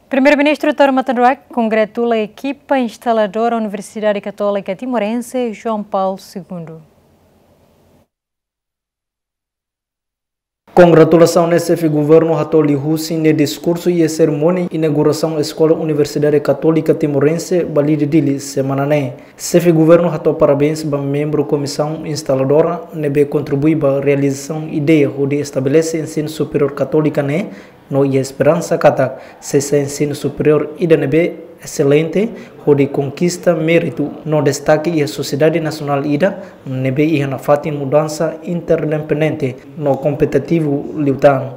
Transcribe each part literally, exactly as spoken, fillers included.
Primeiru-Ministru Taur Matan Ruak kongratula ekipa instaladora Universidade Católica Timorense João Paulo segundo. Kongratulasaun ne'e Xefe Governu hato'o liuhusi nia diskursu iha serimónia inaugurasaun Eskola Universidade Católica Timorense Balide Dili semana ne'e. Xefe Governu hato'o parabéns ba membru Komisaun Instaladora ne'ebé kontribui ba realizasaun ideia hodi estabelese ensinu superiór katólika ne'e, no iha esperansa katak sei sai ensinu superiór ida ne'ebé eselente, hodi konkista méritu no destake iha sosiedade nasionál ida ne'ebé iha nafatin mudansa interdependente no kompetitivu liután.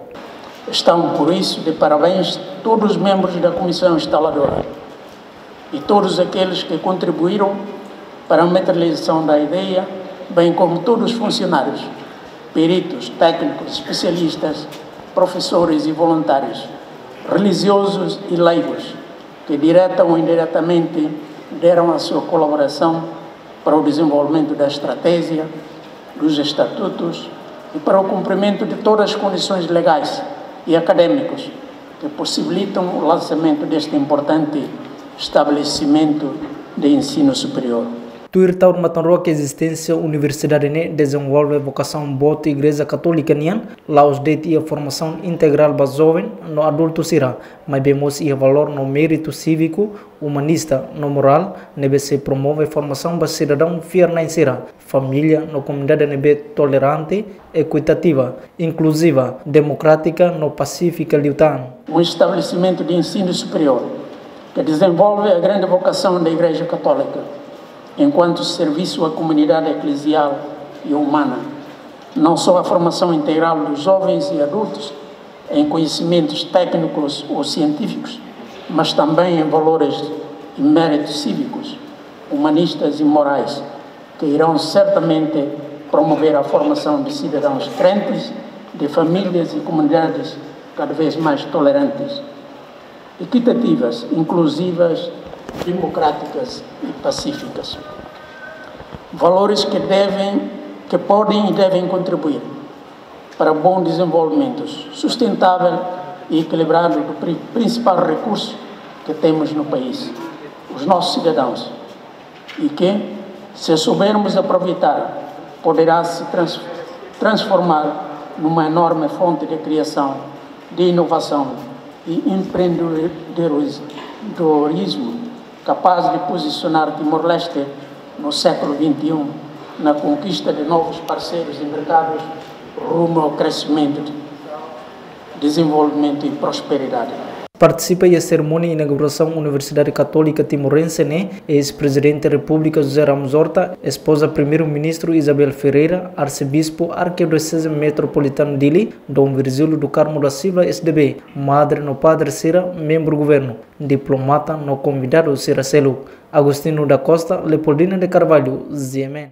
Estão, por isso, de parabéns todos os membros da Comissão Instaladora e todos aqueles que contribuíram para a materialização da ideia, bem como todos os funcionários, peritos, técnicos, especialistas, professores e voluntários, religiosos e leigos, que direta ou indiretamente deram a sua colaboração para o desenvolvimento da estratégia, dos estatutos e para o cumprimento de todas as condições legais e académicas que possibilitam o lançamento deste importante estabelecimento de ensino superior. Tuir Taur Matan Ruak, ezisténsia universidade ne'e dezenvolve vokasaun boot Igreja Katólika nian, la'ós de'it iha formasaun integrál ba joven no adultu sira, maibé mós iha valór no méritu síviku, umanista no morál, ne'ebé sei promove formasaun ba sidadaun fiar-na'in sira, família no komunidade ne'ebé tolerante, ekuitativa, inkluziva, demokrátika no pasífika liután. Um estabelecimento de ensino superior que desenvolve a grande vocação da Igreja Católica enquanto serviço à comunidade eclesial e humana, não só a formação integral dos jovens e adultos em conhecimentos técnicos ou científicos, mas também em valores e méritos cívicos, humanistas e morais, que irão certamente promover a formação de cidadãos crentes, de famílias e comunidades cada vez mais tolerantes, equitativas, inclusivas, democráticas e pacíficas. Valores que devem, que podem e devem contribuir para bom desenvolvimento sustentável e equilibrado do pri-, principal recurso que temos no país, os nossos cidadãos, e que, se soubermos aproveitar, poderá se trans-, transformar numa enorme fonte de criação, de inovação e empreendedorismo capaz de posicionar Timor-Leste no século vinte e um na conquista de novos parceiros e mercados rumo ao crescimento, desenvolvimento e prosperidade. Partisipa iha serimónia inaugurasaun Universidade Katólika Timorense ne'e, eis-Prezidente Repúblika José Ramos Horta, espoza Primeiru-Ministru Isabel Ferreira, Arsebispu Arkidioseze Metropolitana Dili, Dom Virgílio do Carmo da Silva, S D B, madre no padre sira, membru governu, diplomata no konvidadu sira seluk. Agostinho da Costa, Leopoldina de Carvalho, G M N.